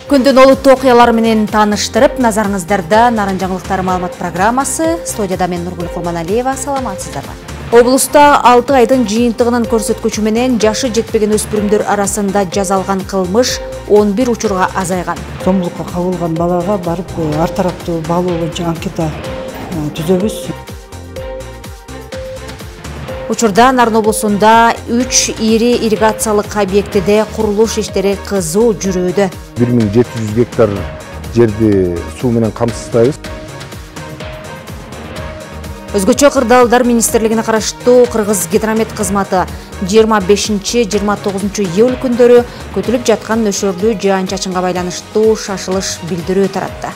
Күндүн олуттуу окуялары менен тааныштырып, назарыңыздарда Нарын жаңылыктары маалымат программасы. Студияда мен Нургүл Курманалиева. Саламатсыздарбы. Облуста 6 айдын жыйынтыгынын көрсөткүчү менен жашы жетпеген өспүрүмдөр арасында жазалган кылмыш 11 учурга азайган. Сомдукка кабылган балага барып ар тараптуу баалоо боюнча анкета түзөбүз. Учурда Нарын облусунда 3 ири ирригациялык объектиде курулуш иштери кызуу жүрүүдө. 1700 гектар жерди суу менен камсыздайбыз. Өзгөчө кырдаалдар министрлигине караштуу Кыргыз гидромет кызматы 25-29 июль күндөрү күтүлүп жаткан нөшөрлүү жаан-чачынга байланыштуу шашылыш билдирүү таратты.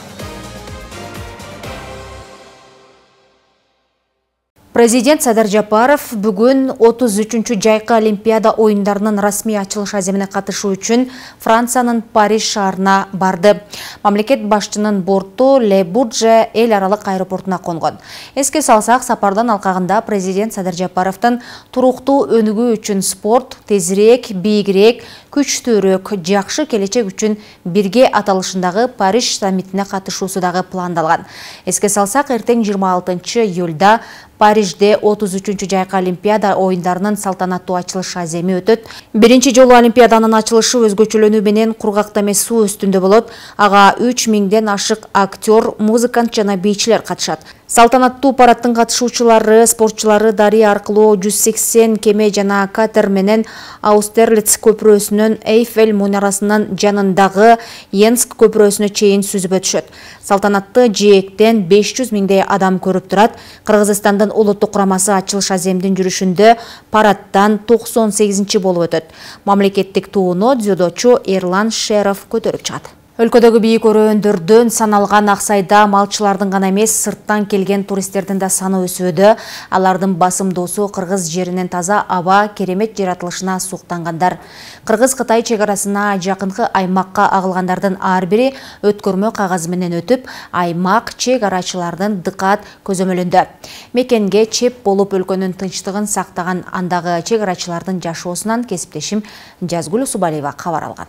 Президент Садыр Жапаров бүгүн 33-чү жайкы Олимпиада оюндарынын расмий ачылыш аземине катышуу үчүн Франциянын Париж шаарына барды. Мамлекет башчынын борту Ле Бурже эл аралык аэропортуна конгон. Эске салсак, сапардан алкагында президент Садыр Жапаровдун туруктуу өнүгүү үчүн спорт, тезирээк, бийигирээк, күчтүүрөөк, жакшы келечек үчүн бирге аталышындагы Париж саммитине катышуусу дагы пландалган. Эске салсак, эртең 26 июлда Парижде 33-чү жайкы Олимпиада оюндарынын салтанаттуу ачылыш аземи өтөт. Биринчи жолу Олимпиаданын ачылышы өзгөчөлөнүү менен кургакта эмес суу үстүндө болот. Ага 3000ден ашык актер, музыкант жана бийчилер катышат. Салтанаттуу парадтын катышуучулары, спортчулары дарыя аркылуу 180 кеме жана катер менен Аустерлиц көпүрөсүнөн Эйфель мунарасынын жанындагы Йенск көпүрөсүнө чейин сүзүп өтүшөт. Салтанатты жээктен 500 миңдей адам көрүп турат. Кыргызстандын улуттук курамасы ачылыш аземдин жүрүшүндө парадтан 98-чи болуп өтөт. Мамлекеттик тууну дзюдочу Эрлан Шеров көтөрүп чыгат. Өлкөдөгү бийик өрөөндөрдөн саналган Аксайда малчылардын гана эмес, сырттан келген туристтердин да саны өсүүдө. Алардын басымдуусу кыргыз жеринен таза аба, керемет жаратылышына суктангандар. Кыргыз-Кытай чек арасына жакынкы аймакка агылгандардын ар бири өткөрмө кагазы менен өтүп, аймак чек арачылардын дыкаат көзөмөлүндө. Мекенге чеп болуп өлкөнүн тынчтыгын сактаган андагы чек арачылардын жашоосунан кесиптешим Жазгүл Усубалиева кабар алган.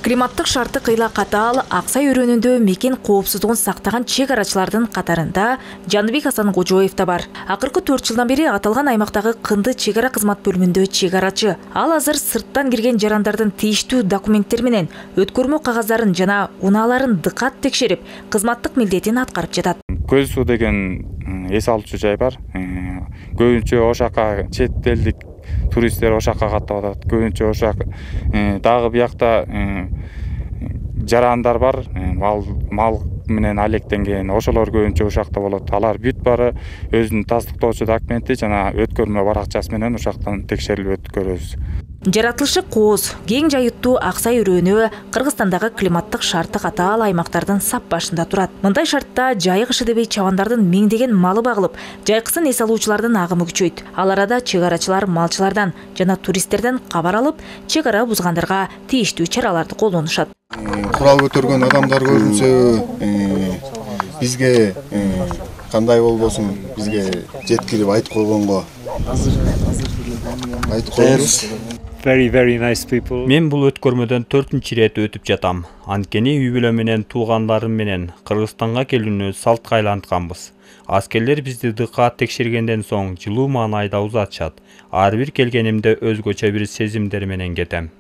Климаттык шарты кыйла катаал Аксай өрөөнүндө мекен коопсуздугун сактаган чек арачылардын катарында Жаныбек Асанкожоев да бар. Акыркы 4 жылдан бери аталган аймактагы Кынды чек ара кызмат бөлүмүндө чек арачы. Ал азыр сырттан кирген жарандардын тийиштүү документтери менен өткөрмө кагаздарын жана унааларын дыкат текшерип, кызматтык милдетин аткарып жатат. Көз суу деген эс алуучу жай бар. Көбүнчө ошака чет элдик туристтер ошакка каттап атат. Көбүнчө ошак дагы биякта жарандар бар, мал менен алектенген, ошолор көбүнчө ушакта болот. Алар бүт бары өзүнүн тастыктоочу документи жана өткөрмө баракчасы менен ушактан текшерилип өткөрөбүз. Жаратылышы кооз, кең жайыттуу Аксай өрөөнү Кыргызстандагы климаттык шарты катаал аймактардын сап башында турат. Мындай шартта жайык ШДБ чабандардын миңдеген малы багылып, жайкысын эс алуучулардын агымы күчөйт. Ал арада чек арачылар малчылардан жана туристтерден кабар алып, чек ара бузгандарга тийиштүү чараларды колдонушат. Курал көтөргөн адамдар көрүнсө, бизге кандай болбосун, бизге жеткирип айтып койгонго айтып коебуз. Very nice people. Мен бул өткөрмөдөн 4-чү ирет өтүп жатам. Анткени үй бүлө менен туугандарым менен Кыргызстанга келүүнү салтка айлантканбыз. Аскерлер бизди дыкаат текшергенден соң жылуу маанайда узатышат. Ар бир келгенимде өзгөчө бир сезимдер менен кетем.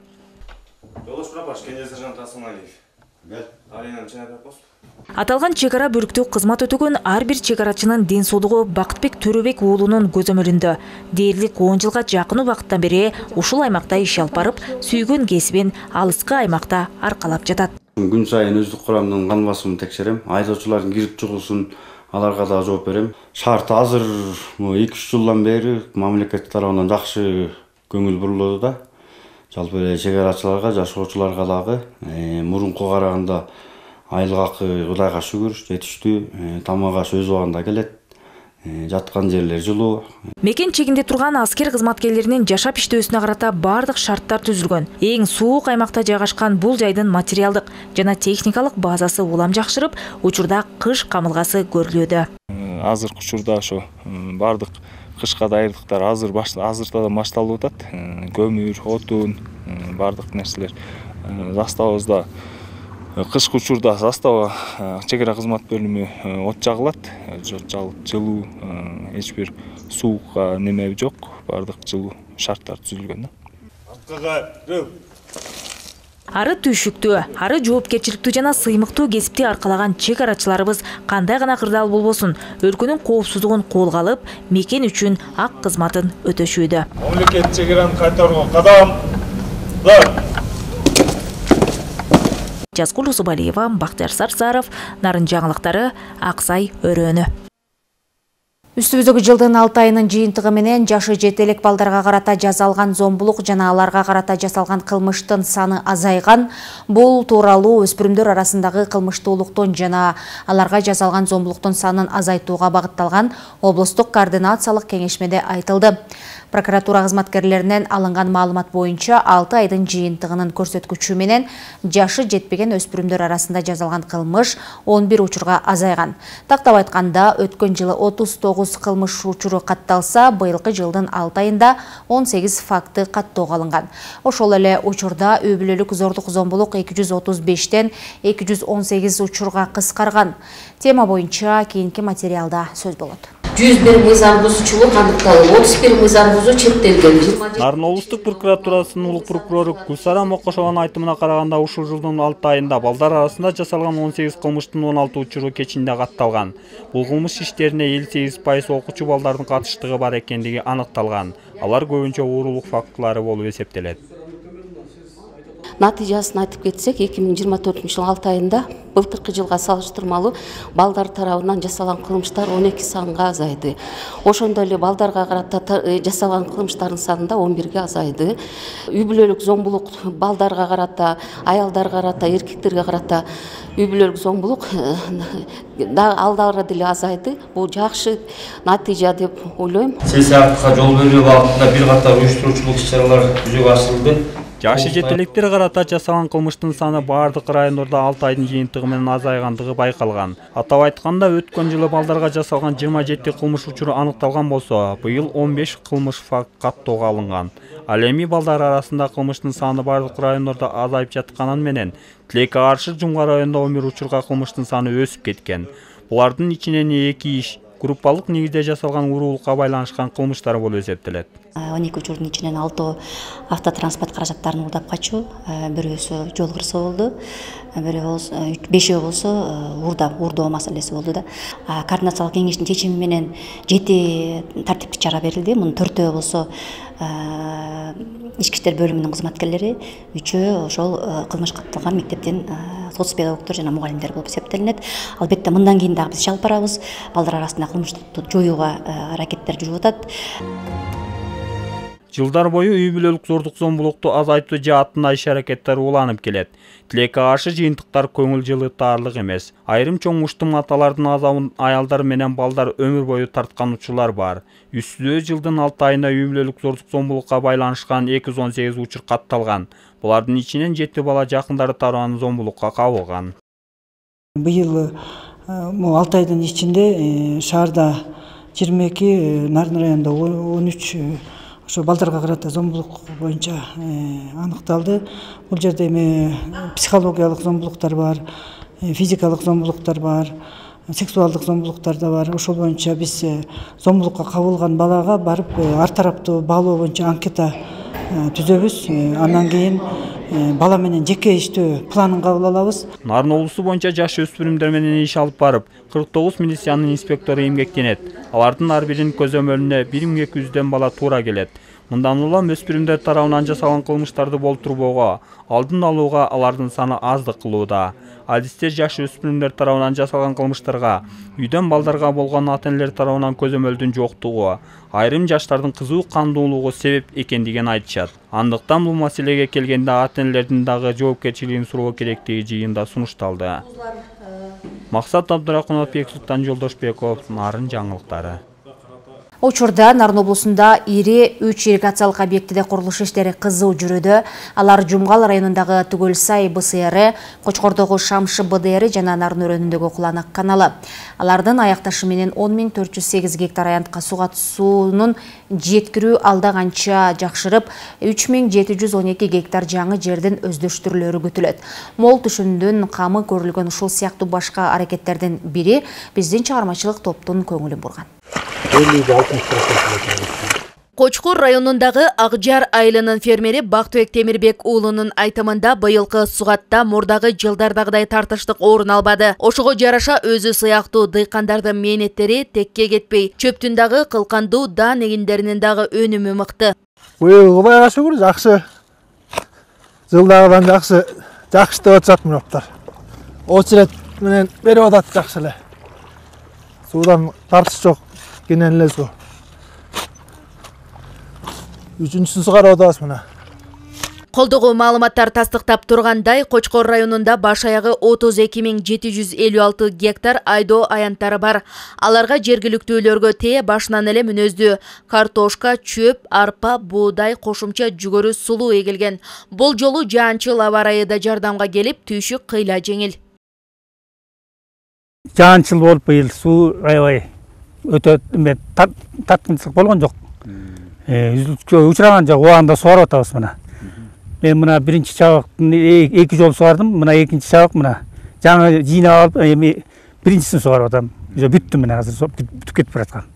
Аталган чек ара бөлүктүү кызмат өтөгөн ар бир чек арачынын ден соолугу Бактыбек Төрөбек уулунун көзөмөлүндө. Дээрлик 10 жылга жакын убакыттан бери ушул аймакта иш алып барып, сүйгөн кесибин алыскы аймакта аркалап жатат. Күн сайын өздүк курамдын кан басымын текшерем, айдоочулардын кирип чыгуусун аларга да жооп берем. Шарт азыр 2-3 жылдан бери мамлекет тарабынан жакшы көңүл бурулууда да. Жалпы эле чек арачыларга, жашоочуларга дагы мурунку караганда айлык акы Кудайга шүгүр жетиштүү, тамак аш өз убагында келет. жаткан жерлер жылуу. Мекен чегинде турган аскер кызматкерлеринин жашап иштөөсүнө карата бардык шарттар түзүлгөн. Эң суук аймакта жайгашкан бул жайдын материалдык жана техникалык базасы улам жакшырып, учурда кыш камылгасы көрүлүүдө. Азыркы учурда ошо бардык кышка даярдыктар азыртадан башталып атат. Көмүр, отун, бардык нерселер заставабызда. Кышкы учурда застава чек ара кызмат бөлүмү от жагылат, жылуу, эч бир суукка неме жок, бардык жылуу шарттар түзүлгөн. Ары түйшүктүү, ары жоопкерчиликтүү жана сыймыктуу кесипти аркалаган чек арачыларыбыз кандай гана кырдаал болбосун, өлкөнүн коопсуздугун колго алып, мекен үчүн ак кызматын өтөшүүдө. Мамлекет чек араны кайтарууга кадамдар. Жазгул Усубалиева, Бактияр Сарсаров, Нарын жаңылыктары, Аксай өрөөнү. Үстүбүздөгү жылдын 6 айынын жыйынтыгы менен жашы жете элек балдарга карата жасалган зомбулук жана аларга карата жасалган кылмыштын саны азайган. Бул тууралуу өспүрүмдөр арасындагы кылмыштуулуктун жана аларга жасалган зомбулуктун санын азайтууга багытталган облустук координациялык кеңешмеде айтылды. Прокуратура кызматкерлеринен алынган маалымат боюнча 6 айдын жыйынтыгынын көрсөткүчү менен жашы жетпеген өспүрүмдөр арасында жасалган кылмыш 11 учурга азайган. Тактап айтканда, өткөн жылы 39 кылмыш учуру катталса, быйылкы жылдын 6 айында 18 факты каттоого алынган. Ошол эле учурда үй бүлөлүк зордук зомбулук 235тен 218 учурга кыскарган. Тема боюнча кийинки материалда сөз болот. 101 мыйзам бузуучулук аныкталып, 31 мыйзам бузуу чектелген. Нарын облустук прокуратурасынын улук прокурору Гүлсара Мокошованын айтымына караганда, ушул жылдын 6 айында балдар арасында жасалган 18 кылмыштын 16 учуру кечинде катталган. Бул кылмыш иштерине 58% окуучу балдардын катыштыгы бар экендиги аныкталган. Алар көбүнчө уурулук фактылары болуп эсептелет. Натыйжасын айтып кетсек, 2024 жылдын 6 айында былтыркы жылга салыштырмалуу балдар тарабынан жасалган кылмыштар 12 санга азайды. Ошондой эле балдарга карата жасалган кылмыштардын саны да 11ге азайды. Үй бүлөлүк зомбулук балдарга карата, аялдарга карата, эркектерге карата үй бүлөлүк зомбулук алдары деле азайды. Бул жакшы натыйжа деп ойлойм. Саясатка жол берүү багытында бир катар уюштуруучулук иш-чаралар жүзөгө ашырылды. Жашы жетелектер карата жасалган кылмыштын саны бардык райондордо 6 айдын жыйынтыгы менен азайгандыгы байкалган. Атап айтканда, өткөн жылы балдарга жасалган 27 кылмыш учуру аныкталган болсо, быйыл 15 кылмыш факт каттоого алынган. Ал эми балдар арасында кылмыштын саны бардык райондордо азайып жатканын менен, Тилекке каршы Жумга районунда 11 учурга кылмыштын саны өсүп кеткен. Булардын ичинен 2 иш группалык негизде жасалган уурулукка байланышкан кылмыштар болуп эсептелет. 12 учурдун ичинен 6 автотранспорт каражаттарын уурдап качуу, бирөөсү жол кырсоо болду, бешөө болсо уурдоо маселеси болду да. Координациялык кеңештин чечими менен 7 тартиптик чара берилди. Мунун 4-өө болсо ички иштер бөлүмүнүн кызматкерлери, 3-өө ошол кылмыш катталган мектептин соц педагогдор жана мугалимдер болуп эсептелинет. Албетте мындан кийин дагы биз чалып барабыз. Балдар арасында кылмыштыкты жоюуга аракеттер жүрүп атат. Жылдар бою үй бүлөлүк зордук зомбулукту азайтуу жаатында иш-аракеттер уланып келет. Тилекке каршы жыйынтыктар көңүл жылытаарлык эмес. Айрым чоң муштум аталардын азабын аялдар менен балдар өмүр бою тарткан учурлар бар. Үстүбүздө жылдын 6 айында үй бүлөлүк зордук зомбулукка байланышкан 218 учур катталган. Булардын ичинен 7 бала жакындары тарабынан зомбулукка кабылган. Быйыл 6 айдын ичинде шаарда 22, Нарын районунда 13 ошо балдарга карата зомбулук боюнча аныкталды. Бул жерде эми психологиялык зомбулуктар бар, физикалык зомбулуктар бар, сексуалдык зомбулуктар да бар. Ошол боюнча биз зомбулукка кабылган балага барып ар тараптуу баалоо боюнча анкета түзөбүз. Андан кийин бала менен жеке иштөө планын кабыл алабыз. Нарын облусу боюнча жаш өспүрүмдөр менен иш алып барып, 49 милициянын инспектору эмгектенет. Алардын ар биринин көзөмөлүнө 1200дөн бала туура келет. Мындан улам өспүрүмдөр тарабынан жасалган кылмыштарды болтурбоого, алдын алууга алардын саны аздык кылууда. Адистер жаш өспүрүмдөр тарабынан жасалган кылмыштарга, үйдөн балдарга болгон ата-энелер тарабынан көзөмөлдүн жоктугу, айрым жаштардын кызуу кандуулугу себеп экендигин айтышат. Андыктан бул маселеге келгенде ата-энелердин дагы жоопкерчилигин суроо керектиги жыйында сунушталды. Максат Абдырахманов, Бексултан Жолдошбеков, Нарын жаңылыктары. Учурда Нарын облусунда ири 3 ирригациялык объектиде курулуш иштери кызуу жүрүүдө. Алар Жумгал районундагы Түгөлсай БСР, Кочкордогу Шамшы БДР жана Нарын өрөөнүндөгү Куланак каналы. Алардын аякташы менен 10.408 гектар аянтка суга суунун жеткирүү алда канча жакшырып, 3.712 гектар жаңы жердин өздөштүрүлөрү күтүлөт. Мол түшүндүн камы көрүлгөн ушул сыяктуу башка аракеттердин бири биздин чыгармачылык топтун көңүлүн бурган. Кочкор районундагы Акжар айылынын фермери Бактыбек Темирбек уулунун айтымында быйылкы сугатта мурдагы жылдардагыдай тартыштык орун албады. Ошого жараша өзү сыяктуу дыйкандардын мээнеттери текке кетпей, чөптүн дагы кылкандуу даан эгиндеринин дагы өнүмү мыкты. Быйыл Кудайга шүгүр жакшы. Жылдагыдан жакшы деп атышат мураптар. Очерет менен берип атат жакшы эле. Суудан тартыш жок, кенен эле суу. Үчүнчүсүн сугарып атабыз мына. Колдогу маалыматтар тастыктап тургандай, Кочкор районунда баш аягы 32.756 гектар айдоо аянттары бар. Аларга жергиликтүүлөргө тээ башынан эле мүнөздүү картошка, чөп, арпа, буудай, кошумча жүгөрү сулуу эгилген. Бул жолу жаанчыл аба ырайы да жардамга келип, түйшүк кыйла жеңил. Жаанчыл болуп быйыл суу аябай өтө таткынчылык болгон жок. Үзүлүшкө учураган жок, убагында сугарып атабыз мына. Мен мына биринчи чабактын 2 жол сугардым, мына экинчи чабак мына. Жаңы жыйнап алып, эми биринчисин сугарып атам. Бүттү мына, азыр бүтүп кетип бараткан.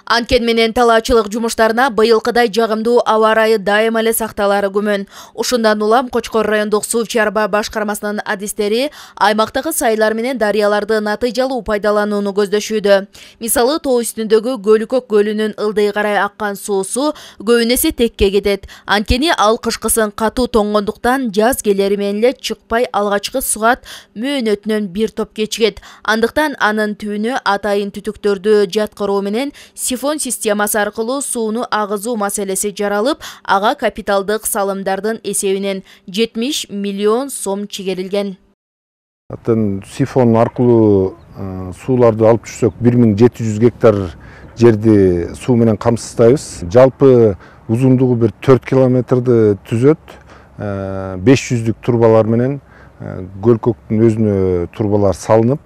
Анткени менен талаачылык жумуштарына быйылкыдай жагымдуу аба ырайы дайыма эле сакталары күмөн. Ушундан улам Кочкор райондук суу чарба башкармасынын адистери аймактагы сайлар менен дарыяларды натыйжалуу пайдаланууну көздөшүүдө. Мисалы, тоо үстүндөгү Көлүкөк көлүнүн ылдый карай аккан суусу көбүнесе текке кетет. Анткени ал кышкысын катуу тоңгондуктан жаз келери менен эле чыкпай алгачкы сугат мөөнөтүнөн бир топ кечигет. Андыктан анын түбүнө атайын түтүктөрдү жаткыруу менен сифон системасы аркылуу сууну агызуу маселеси жаралып, ага капиталдык салымдардын эсебинен 70 миллион сом чегерилген. Сифон аркылуу сууларды алып жүрсөк 1700 гектар жерди суу менен камсыздайбыз. Жалпы узундугу бир 4 километрди түзөт. 500 турбалар менен Көлкөктүн өзүнө турбалар салынып,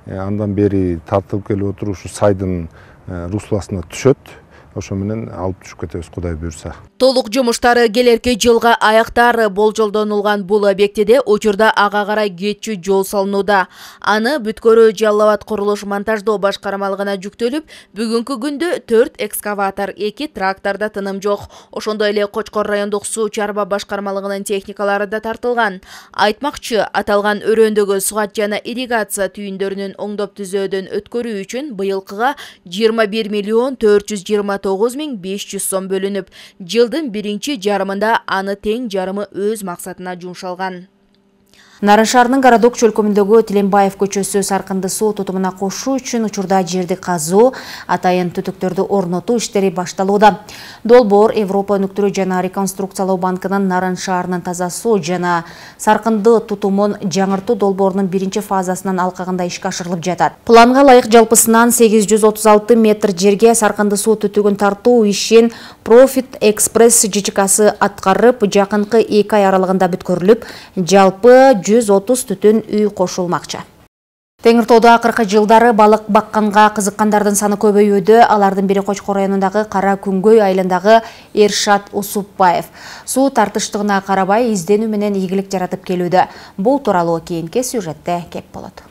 андан бери тартылып келип отуруп ушу сайдын русласына түшөт. Ошо менен алып түшүп кетебиз, Кудай буйрса. Толук жумуштары келерки жылга аяктар болжолдонулган бул объектиде учурда ага карай кетчү жол салынууда. Аны Бүткөрү Жалал Абад курулуш монтаждоо башкармалыгына жүктөлүп, бүгүнкү күндө 4 экскаватор, 2 тракторда тыным жок. Ошондой эле Кочкор райондук суу чарба башкармалыгынын техникалары да тартылган. Айтмакчы, аталган өрөөндөгү сугат жана ирригация түйүндөрүнүн оңдоп түзөөдөн өткөрүү үчүн быйылкыга 21 миллион 429.500 сом бөлүнүп, жылдын биринчи жарымында аны тең жарымы өз максатына жумшалган. Нарын шаарынын городок чөлкөмүндөгү Тиленбаев көчөсү саркынды суу тутумуна кошуу үчүн учурда жерди казуу, атайын түтүктөрдү орнотуу иштери башталууда. Долбоор Европа өнүктүрүү жана реконструкциялоо банкынын Нарын шаарынын таза суу жана саркынды тутумун жаңыртуу долбоорунун биринчи фазасынын алкагында ишке ашырылып жатат. Планга ылайык жалпысынан 836 метр жерге саркынды суу түтүгүн тартуу ишин Profit Express ЖЧКсы аткарып, жакынкы 2 ай аралыгында бүткөрүлүп, жалпы 130 түтүн үй кошулмакчы. Теңир тоодо акыркы жылдары балык бакканга кызыккандардын саны көбөйүүдө. Алардын бири Кочкор районундагы Кара Күнгөй айылындагы Эршат Усупбаев. Суу тартыштыгына карабай изденүү менен ийгилик жаратып келүүдө. Бул тууралуу кийинки сюжетте кеп болот.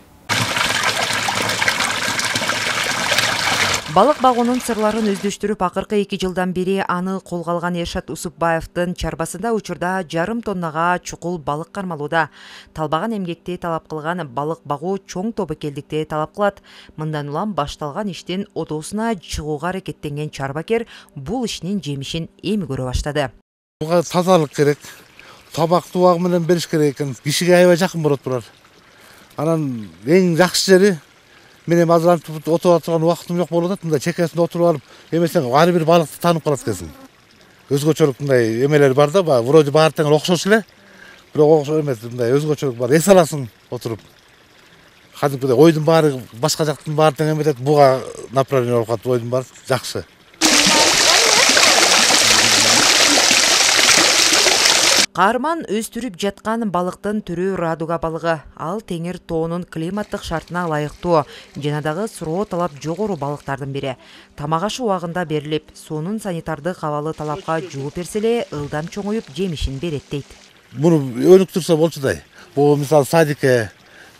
Балык багуунун сырларын өздөштүрүп, акыркы 2 жылдан бери аны колго алган Эршат Усупбаевдин чарбасында учурда жарым тоннага чукул балык кармалууда. Талбаган эмгекти талап кылган балык багуу чоң тобокелдикти талап кылат. Мындан улам башталган иштин одоосуна чыгууга аракеттенген чарбакер бул ишинин жемишин эми көрө баштады. Буга тазалык керек. Табакты убагы менен бериш керек экен. Кишиге аябай жакын болот булар. Анан эң жакшы жери мен эми азыр антип отуруп турган убактым жок болуп атат. Мындай чекесинде отуруп алып, эмесең ар бир балыкты таанып калат экенсиң. Өзгөчөлүк мындай эмелер бар да, вроде баары тең окшош эле. Бирок окшош эмес, мындай өзгөчөлүк бар. Эс аласың отуруп. кадимкидей ойдун баары башка жактын баары тең эметет, буга направление болуп калат, ойдун баары жакшы. Каарман өстүрүп жаткан балыктын түрү радуга балыгы. Ал теңир тоонун климаттык шартына ылайыктуу жана дагы суроо талап жогору балыктардын бири. Тамак ашы убагында берилип, суунун санитардык абалы талапка жооп берсе эле ылдам чоңоюп жемишин берет дейт. Муну өнүктүрсө болчудай. Бул мисалы садикке,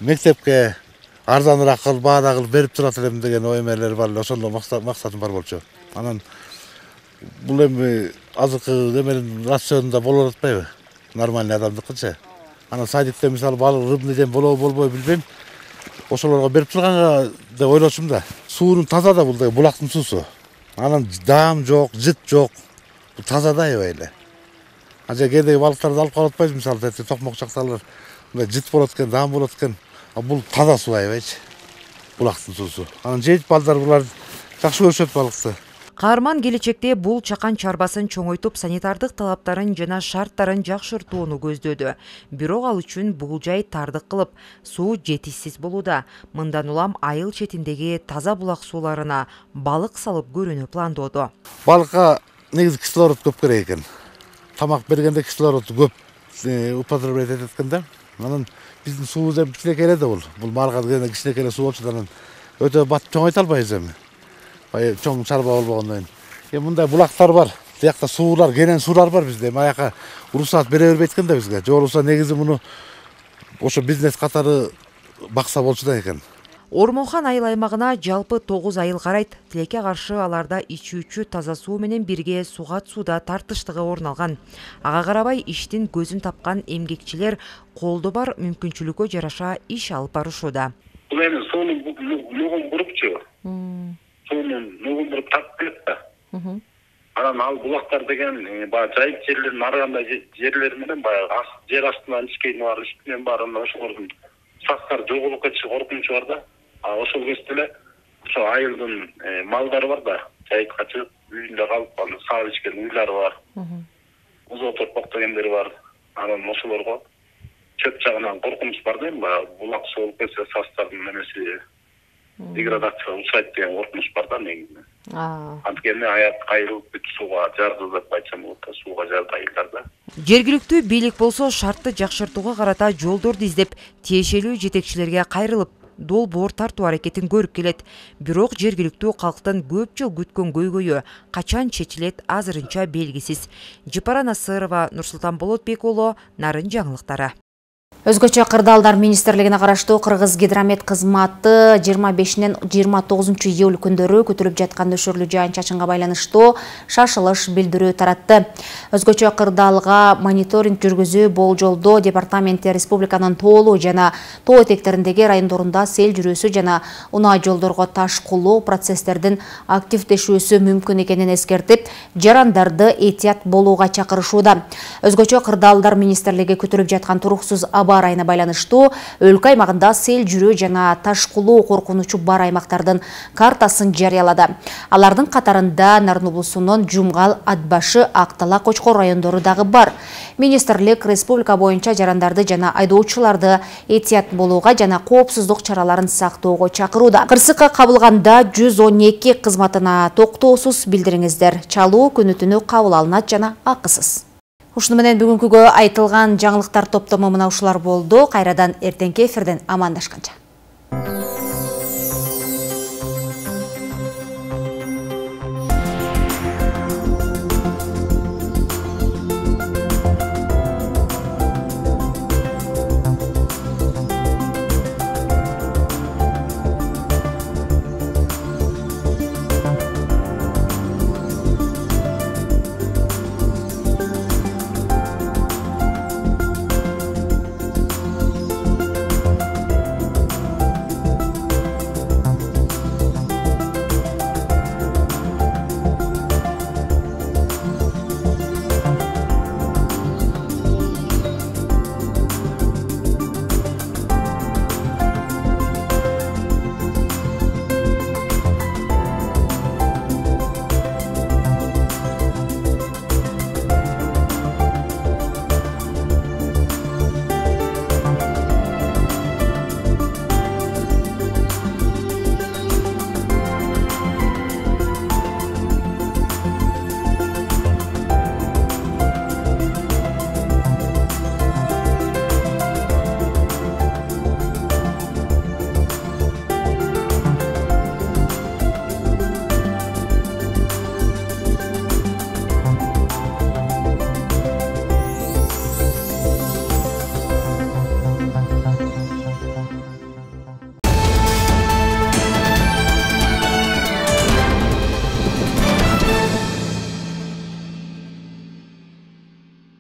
мектепке арзаныраак кылып, баада кылып берип турат элем деген ой мээлер бар эле, ошондо максатым бар болчу. Анан бул эми азыркы эменин рационунда болуп атпайбы? Нормальный адамдыкычы. Анан садикте мисалы балык рыбный жем болобу болбойбу билбейм. Ошолорго берип турганга деп ойлошум да. Суунун таза да, бул да булактын суусу. Анан даам жок, жыт жок. Бул таза да аябай эле. Анча кээдеги балыктарды алып калып атпайбыз, мисалы токмок жакталар мындай жыт болот экен, даам болот экен. А бул таза суу аябайчы. Булактын суусу. Анан жейт балдар булар жакшы көрүшөт балыкты. Каарман келечекте бул чакан чарбасын чоңойтуп, санитардык талаптарын жана шарттарын жакшыртууну көздөөдү. Бирок ал үчүн бул жай тардык кылып, суу жетишсиз болууда. Мындан улам айыл четиндеги таза булак сууларына балык салып көрүүнү пландоодо. Балыкка негизи кислород көп керек экен. Тамак бергенде кислород көп употреблять этет экен да. Анан биздин суубуз эми кичинекей эле да бул. Бул малга дегенде кичинекей эле суу болчу да, анан өтө батып чоңойто албайбыз эми. Чоң чарба болбогондон кийин. Мындай булактар бар. Тиякта суулар, кенен суулар бар бизде. Аяка уруксаат бере бербейт экен да бизге. Же болбосо негизи муну ошо бизнес катары бакса болчу да экен. Ормонхан айыл аймагына жалпы 9 айыл карайт. Тилекке каршы аларда ичүүчү таза суу менен бирге сугат сууда тартыштыгы орун алган. Ага карабай иштин көзүн тапкан эмгекчилер колдо бар мүмкүнчүлүккө жараша иш алып барышууда. Бул эми суунун нугун бурупчу. Суунун нугун буруп тартып келет да. Анан ал булактар деген баягы жайык жерлердин ар кандай жерлери менен баягы жер астынан ичкейине бар үстүнөн бар, анан ошолордун сактары жоголуп кетиши коркунучу бар да. Ошол кезде эле ошо айылдын малдары бар да, жайыкка чыгып үйүндө калып саап ичкен уйлары бар. Узо торпок дегендери бар. Анан ошолорго чөп жагынан коркунуч бар да, баягы булак соолуп кетсе састардын немеси деградация учурайт деген коркунуч бар да негизи. Анткени айыл бүт сууга жарды деп айтсам болот да, сууга жарды айылдарда. Жергиликтүү бийлик болсо шартты жакшыртууга карата жолдорду издеп, тиешелүү жетекчилерге кайрылып, долбоор тартуу аракетин көрүп келет. Бирок жергиликтүү калктын көп жыл күткөн көйгөйү качан чечилет азырынча белгисиз. Жапара Насырова, Нурсултан Болотбек уулу, Нарын жаңылыктары. Өзгөчө кырдаалдар министрлигине караштуу Кыргыз гидромет кызматы 25-нен 29 июль күндөрү күтүлүп жаткан нөшөрлүү жаан-чачынга байланыштуу шашылыш билдирүү таратты. Өзгөчө кырдаалга мониторинг жүргүзүү болжолдо департаменти республиканын тоолуу жана тоо этектериндеги райондорунда сел жүрүүсү жана унаа жолдорго таш кулуу процесстердин активдешүүсү мүмкүн экенин эскертип, жарандарды этият болууга чакырышууда. Өзгөчө кырдаалдар министрлиги күтүлүп жаткан туруксуз айына байланыштуу өлкө аймагында сел жүрүү жана таш кулуу коркунучу бар аймактардын картасын жарыялады. Алардын катарында Нарын облусунун Жумгал, Атбашы, Актала, Кочкор райондору дагы бар. Министрлик республика боюнча жарандарды жана айдоочуларды этият болууга жана коопсуздук чараларын сактоого чакырууда. Кырсыкка кабылганда 112 кызматына токтоосуз билдириңиздер. Чалуу күнү-түнү кабыл алынат жана акысыз. Ушуну менен бүгүнкүгө айтылган жаңылыктар топтому мына ушулар болду. Кайрадан эртеңки эфирден амандашканча.